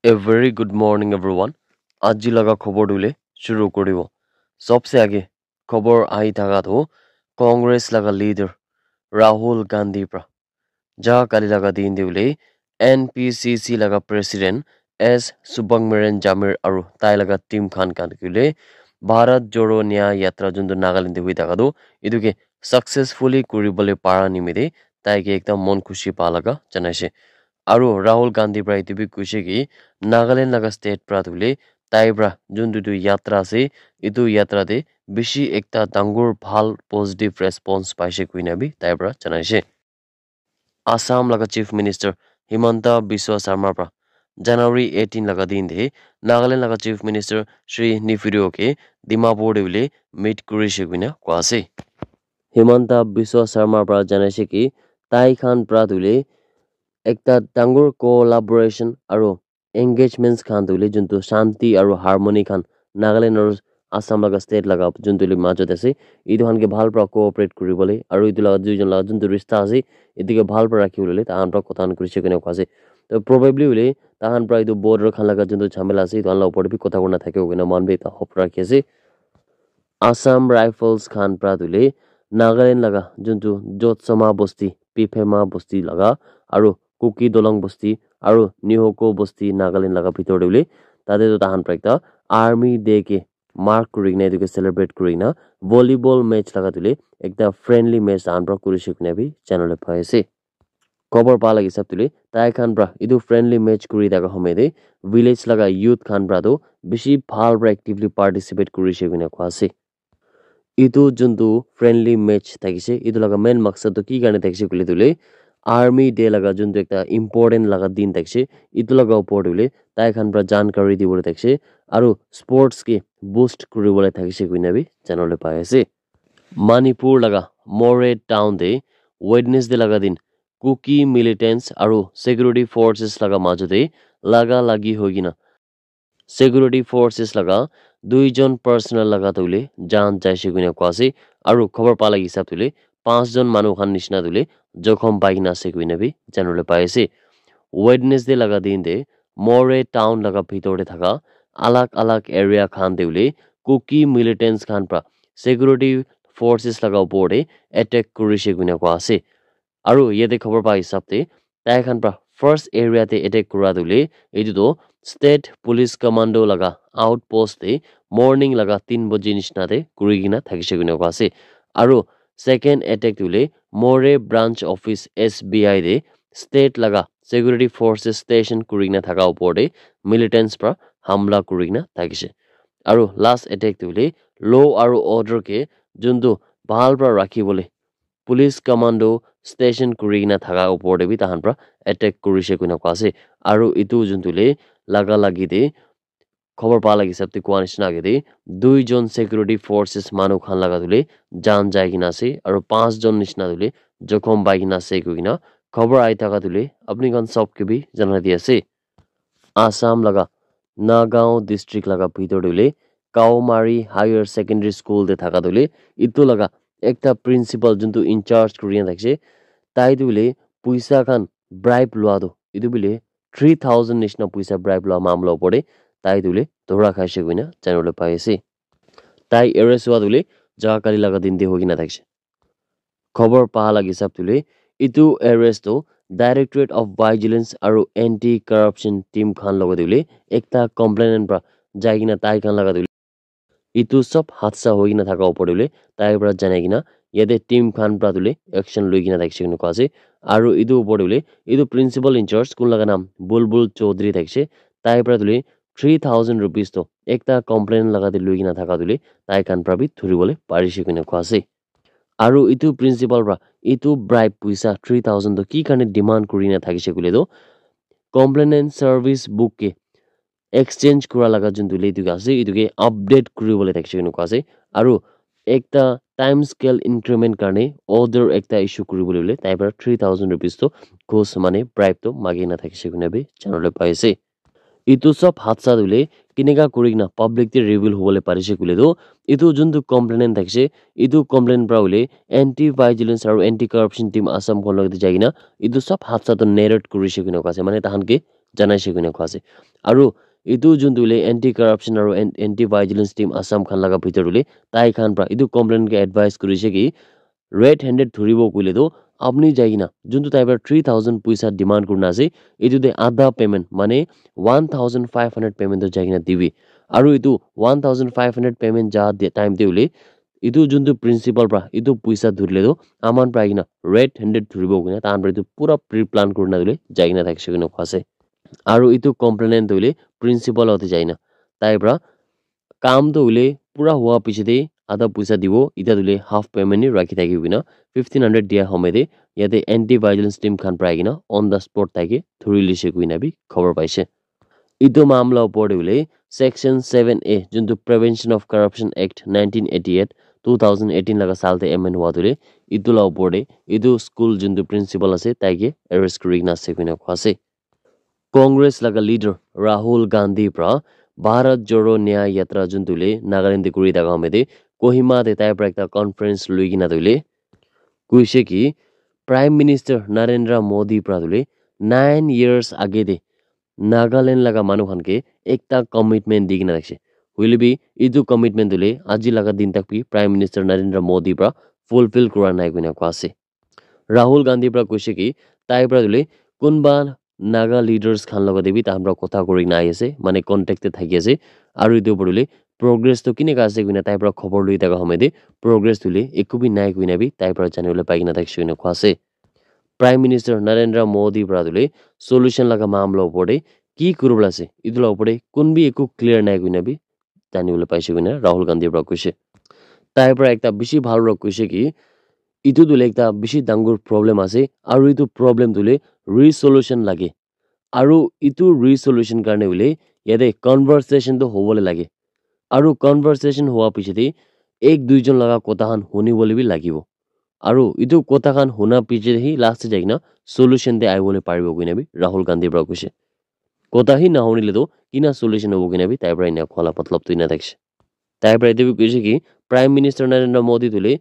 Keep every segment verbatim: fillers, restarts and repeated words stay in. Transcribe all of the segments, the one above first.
A very good morning, everyone. Aji laga khobor tu le shuru koribo. Sobse age khobor ahi thaka tu Congress laga leader Rahul Gandhi pra ja kali laga din te le N P C C laga president S Subramanian Jamir aru tai laga team khan khan ke le Bharat Jodo Nyay Yatra juntu Nagaland te hui thaka tu etu ke successfully kuri bole para nimite tai ke ekta mon khushi pa laga janaise. Aru Rahul Gandhi pra etu bi koise ki Nagaland laga state pra tu le tai pra juntu tu yatra ase, etu yatra te bishi ekta dangor bhal positive response paise koina bi tai pra janaise. Assam laga Chief Minister Himanta Biswa Sarma pra January eighteen laga din te Nagaland laga Chief Minister Shri Neiphiu Rio ke Dimapur te bole meet kurise koina koa ase. Himanta Biswa Sarma pra janaise ki tai khan pra tu le ekta dangor collaboration aru engagements khan tu le juntu shanti aru harmony khan Nagaland aru Assam laga state laga juntu le majot ase, etu khan ke bhal pra cooperate kuri bole aru etu laga duijon laga juntu rista ase, etu ke bhal pra rakhi bole tai khan pra kotha khan kurise koina koa ase. To probably hoile tai khan pra etu border khan laga juntu jhamela ase, etu khan laga upor te bi kotha kurina thakibo koina moikhan bi ekta hope rakhi ase. Assam Rifles khan pra tu le Nagaland laga juntu Jotsoma bosti, Piphema bosti laga aru Kuki Dolong bosti aru Nihoko bosti Nagaland laga bhitor te le tate tu tai khan pra ekta Army Day ke mark kuri kena etu ke celebrate kuri kena volleyball match laga tu le ekta friendly match tai khan pra kurise koina bi janabole pai ase. Khobor pa laga hisab tu le tai khan pra etu friendly match kuri thaka homoy te village laga youth khan pra tu bishi bhal pra actively participate kurise koina koa ase. Etu juntu friendly match thakise, etu laga main maksad tu ki karne thakise koile tu le Army Day laga juntu ekta important laga din thakise, etu laga upor tu le tai khan pra jankari dibole thakise aru sports ke boost kuribole thakise koina bi janabole pai ase. Manipur laga Moreh town te Wednesday laga din Kuki militants aru security forces laga majot te laga lagi hoi kena security forces laga duijon personnel laga tu le jaan jaise koina koa ase aru khobor pa laga hisab tu le panch jon manu khan nishina tu le jokhom pai kena ase koina bi janabole pai ase. Wednesday laga din te Moreh town laga bhitor te thaka alag alag area khan te le Kuki militants khan pra security forces laga upor te attack kurise koina koa ase. Aru yate khobor pa hisab te tai khan pra first area te attack kura tu le etu tu state police commando laga outpost te morning laga tin baji nishina te kuri kena thakise koina koa ase. Aru second attack tu le Moreh branch office S B I te state laga security forces station kuri kena thaka upor te militants pra hamla kuri kena thakise. Aru last attack tu le law aru order ke juntu bhal pra rakhi bole police commando station kuri kena thaka upor te bi tai khan pra attack kurise koina koa ase. Aru etu juntu le laga lagi te khobor pa laga hisab te koa nishina age te duijon security forces manu khan laga tu le jaan jai kena ase aru panch jon nishina tu le jokhom pai kena ase koi kena khobor ahi thaka tu le apni khan sob ke bi janai di ase. Assam laga Nagaon district laga bhitor te le Kaumari Higher Secondary School te thaka tu le etu laga ekta principal juntu in charge kuri kena thakise, tai tu le puisa khan bribe lua tu etu bole three thousand nishina puisa bribe lua mamla upor te tai tu le dhora khaise koina janabole pai ase. Tai arrest hua tu le ja kali laga din te hoi kena thakise. Khobor pa laga hisab tu le etu arrest tu Directorate of Vigilance aru Anti Corruption team khan logot te le ekta complainant pra jai kena tai khan laga tu le etu sob hadsa hoi kena thaka upor te le tai pra janai kena yate team khan pra tu le action lui kena thakise koina koa ase. Aru etu upor te le etu principal in charge kun laga naam Bulbul Chaudhary thakise, tai pra tu le three thousand rupees tu ekta complainant laga te lui kena thaka tu le tai khan pra bi dhuribole parise koina koa ase. Aru etu principal pra etu bribe puisa three thousand tu ki karne demand kuri kena thakise koile tu complainant service book ke exchange kura laga juntu le etu ke ase, etu ke update kuri bole thakise koina koa ase. Aru ekta time scale increment karne order ekta issue kuri bole hoile tai pra three thousand rupees tu ghus mane bribe tu magi kena thakise koina bi janabole pai ase. Etu sob hadsa tu le kenika kuri kena public te reveal hobole parise koile tu etu juntu complainant thakise, etu complainant pra hoile Anti Vigilance aru Anti Corruption team Assam khan logot te jai kena etu sob hadsa tu narrate kurise koina koa ase, mane tai khan ke janaise koina koa ase. Aru etu juntu hoile anti corruption aru an- anti vigilance team Assam khan laga bhitor te hoile tai khan pra etu complaint ke advice kurise ki red handed thuribo koile tu apni jai kena juntu tai pra three thousand puisa demand kurina ase, etu te adha payment mane one thousand five hundred payment tu jai kena dibi. Aru etu one thousand five hundred payment ja de time te hoile etu juntu principal pra etu puisa dhurile tu aman pra kena red handed dhuribo koina tahan pra etu pura pre plan kurina hoile jai kena thakise koina koa ase. Aru etu complainant tu hoile principal ote jai kena tai pra kam tu hoile pura hua piche te adha puisa dibo, ita tu hoile half payment ni rakhi thaki koina fifteen hundred dia home te yate anti vigilance team khan pra kena on the spot tai ke dhuri lise koina bi khobor paise. Etu mamla opor te hoile section seven A juntu Prevention of Corruption Act nineteen eighty eight two thousand eighteen laga sal te amend hua tu hoile etu la opor te etu school juntu principal ase tai ke arrest kuri kena ase koina koa ase. Congress laga leader Rahul Gandhi pra Bharat Jodo Nyay Yatra juntu hoile Nagaland te kuri thaka home te Kohima te tai pra ekta conference lui kena tu hoile koise ki Prime Minister Narendra Modi pra tu hoile nine years age te Nagaland laga manu khan ke ekta commitment di kena rakhishe. Hoile bi etu commitment tu hoile aji laga din tak bi Prime Minister Narendra Modi pra fulfill kura nai koina koa ase. Rahul Gandhi pra koise ki tai pra tu hoile kunba Naga leaders khan logote bi tahan pra kotha kuri kena ahi ase, mane contact te thaki ase. Aru etu opor te hoile progress tu kineka ase koina tai pra khobor lui thaka home te progress tu hoile eku bi nai koina bi tai pra janibole pai kena thakishe koina koa ase. Prime Minister Narendra Modi pra tu hoile solution laga mamla opor te ki kuribole ase etu la opor te kun bi eku clear nai koina bi janibole paise koina Rahul Gandhi pra koise. Tai pra ekta bishi bhal pra koise ki etu tu hoile ekta bishi dangor problem ase aru etu problem tu hoile resolution lage. Aru etu resolution karne hoile yate conversation tu hobole lage. Aru conversation hua piche te ek duijon laga kotha khan huni bole bi lagibo. Aru etu kotha khan huna piche te hi last te jai kena solution te ahi bole paribo koina bi Rahul Gandhi pra koise. Kotha hi nahunile tu kina solution hobo koina bi tai pra ena koa la matlab tu ena thakishe. Tai pra etu bi koise ki Prime Minister Narendra Modi tu hoile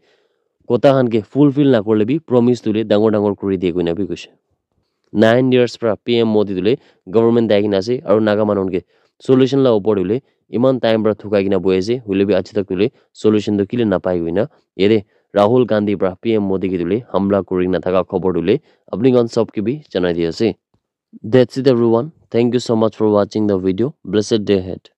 kotha khan ke fulfill na kurile bi promise tu hoile dangor dangor kuri diye koina bi koise. Nine years pra P M Modi tu hoile government dai kena ase aru Naga manu khan ke solution la opor tu hoile iman time pra thukai kena bohi ase, hoile bi aji tak tu hoile solution tu kile napai koina yate Rahul Gandhi pra P M Modi ke tu hoile hamla kuri kena thaka khobor tu hoile apni khan sob ke bi janai di ase. That's it everyone. Thank you so much for watching the video. Blessed day ahead.